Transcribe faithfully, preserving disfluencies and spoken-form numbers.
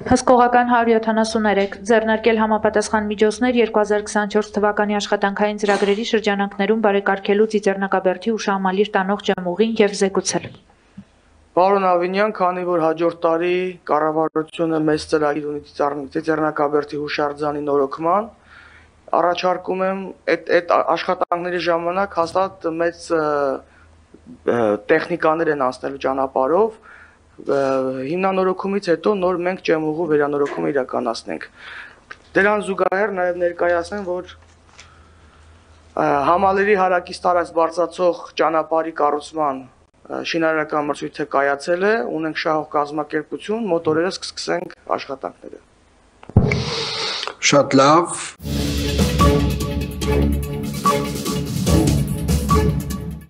Հսկողական հարյուր յոթանասուններեք ձեռնարկել համապատասխան միջոցներ երկու հազար քսաներորդ թվականի աշխատանքային ծրագրերի շրջանակներում բարեկարգելու Ծիծեռնակաբերդի ուշահամալիր տանող ջամուղին և զեկուցել։ Պարոն Ավինյան, քանի որ հաջորդ տարի կառավարությունը մեծ ծրագիր ունի Ծիծեռնակաբերդի հուշարձանի նորոգման, առաջարկում եմ այդ աշխատանքների ժամանակ հաստատ մեծ տեխնիկաներ են անցնելու ճանապարհով, հիմնանորոգումից հետո նոր մենք ջամուղու վերանորոգումը իրականացնենք։ Դրան զուգահեռ նաև ներկայացնեմ, որ Համալիրի հարակից տարածք բարձրացող ճանապարհի կառուցման շինարարական մրցույթը կայացել է, ունենք շահող կազմակերպություն, մոտորերս կսկսենք աշխատանքները։ Շատ լավ։